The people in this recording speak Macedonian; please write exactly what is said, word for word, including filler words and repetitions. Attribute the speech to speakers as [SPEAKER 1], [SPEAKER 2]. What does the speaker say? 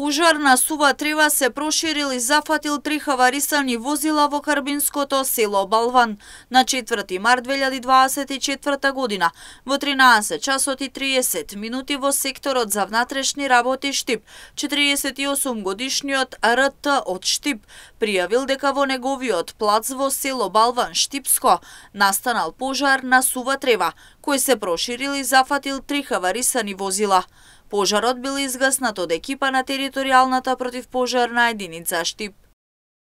[SPEAKER 1] Пожар на сува трева се проширил и зафатил три хаварисани возила во карбинското село Балван на четврти март две илјади дваесет и четврта година во тринаесет часот и триесет минути во секторот за внатрешни работи Штип. четириесет и осум годишниот Р Т од Штип пријавил дека во неговиот плац во село Балван Штипско настанал пожар на сува трева, кој се проширил и зафатил три хаварисани возила. Пожарот бил изгаснат од екипа на територијалната противпожарна единица Штип.